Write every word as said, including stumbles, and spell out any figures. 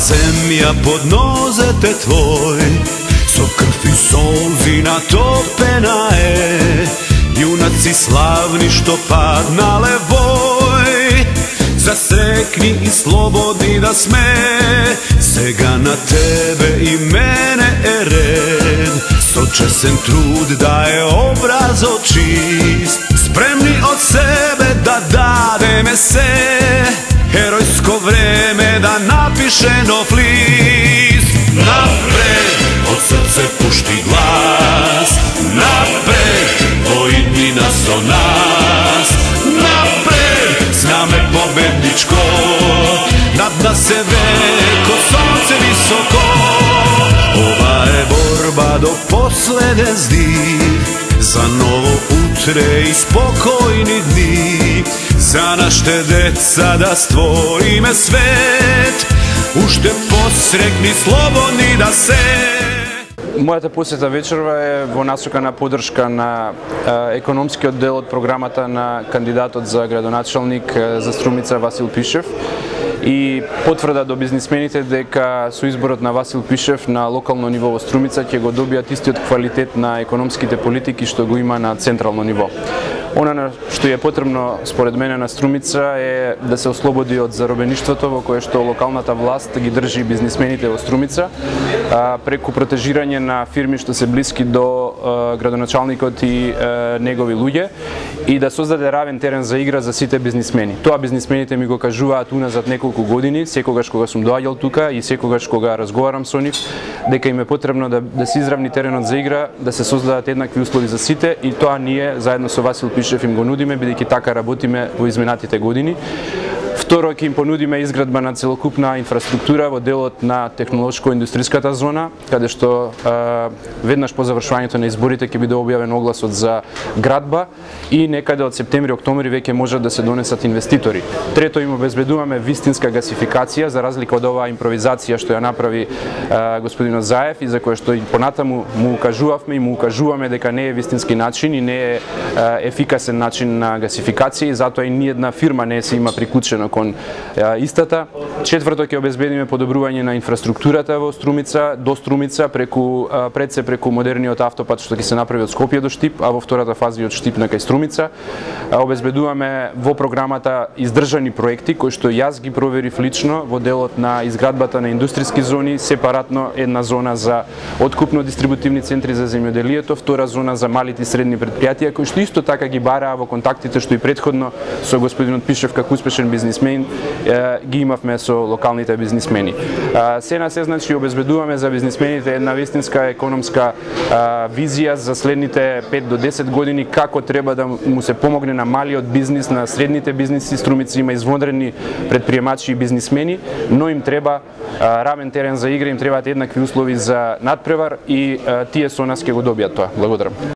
земја под нозете твој, со крв и солзи натопена е. Јунаци славни што паднале вој, засрекни и слободни да сме. Сега на тебе и мене е ред, со чесен труд да е образот чист, спремни од себе да дадеме се. Херојско време да напише нов лист. Напред, од срце пушти глас, напред, во иднина со нас. Напред, знаме победничко, над нас е веко сонце високо. Ова е борба до последен здив, за ново утре и спокојни дни, за нашите деца да створиме свет, уште посрекни слободни да се. Мојата посета вечерва е во насока на поддршка на е, економскиот дел од програмата на кандидатот за градоначалник е, за Струмица Васил Пишев и потврда до бизнисмените дека со изборот на Васил Пишев на локално ниво во Струмица ќе го добијат истиот квалитет на економските политики што го има на централно ниво. Она што е потребно според мене на Струмица е да се ослободи од заробеништвото во кое што локалната власт ги држи бизнисмените во Струмица а, преку протежирање на фирми што се блиски до а, градоначалникот и а, негови луѓе и да создаде равен терен за игра за сите бизнисмени. Тоа бизнисмените ми го кажуваат уназад неколку години, секогаш кога сум доаѓал тука и секогаш кога разговарам со нив, дека им е потребно да, да се изравни теренот за игра, да се создадат еднакви услови за сите и тоа ние заедно со Васил Пишев им го нудиме, бидејќи така работиме во изминатите години. Второ, ќе им понудиме изградба на целокупна инфраструктура во делот на технолошко-индустријската зона, каде што а, веднаш по завршувањето на изборите ќе биде објавен огласот за градба и некаде од септември-октомври веќе можат да се донесат инвеститори. Трето, им обезбедуваме вистинска гасификација, за разлика од оваа импровизација што ја направи а, господинот Заев и за која што и понатаму му укажувавме и му укажуваме дека не е вистински начин и не е а, ефикасен начин на гасификација и затоа и ниедна фирма не се има приклучена кон а, истата. Четврто, ќе обезбедиме подобрување на инфраструктурата во Струмица, до Струмица, преку, а, пред се преку модерниот автопат што ќе се направи од Скопје до Штип, а во втората фаза и од Штип на кај Струмица. А, обезбедуваме во програмата издржани проекти, кои што јас ги проверив лично во делот на изградбата на индустријски зони, сепаратно една зона за откупно-дистрибутивни центри за земјоделието, втора зона за малите и средни предпријатија, кои што исто така ги бараа во контактите што и претходно со господинот Пишев како успешен бизнисмен ги имавме со локалните бизнисмени. Се на се, значи, обезбедуваме за бизнисмените една вистинска економска визија за следните пет до десет години како треба да му се помогне на малиот бизнис, на средните бизниси. Струмица има извонредни предприемачи и бизнисмени, но им треба равен терен за игра, им требаат еднакви услови за надпревар и тие со нас ќе го добијат тоа. Благодарам.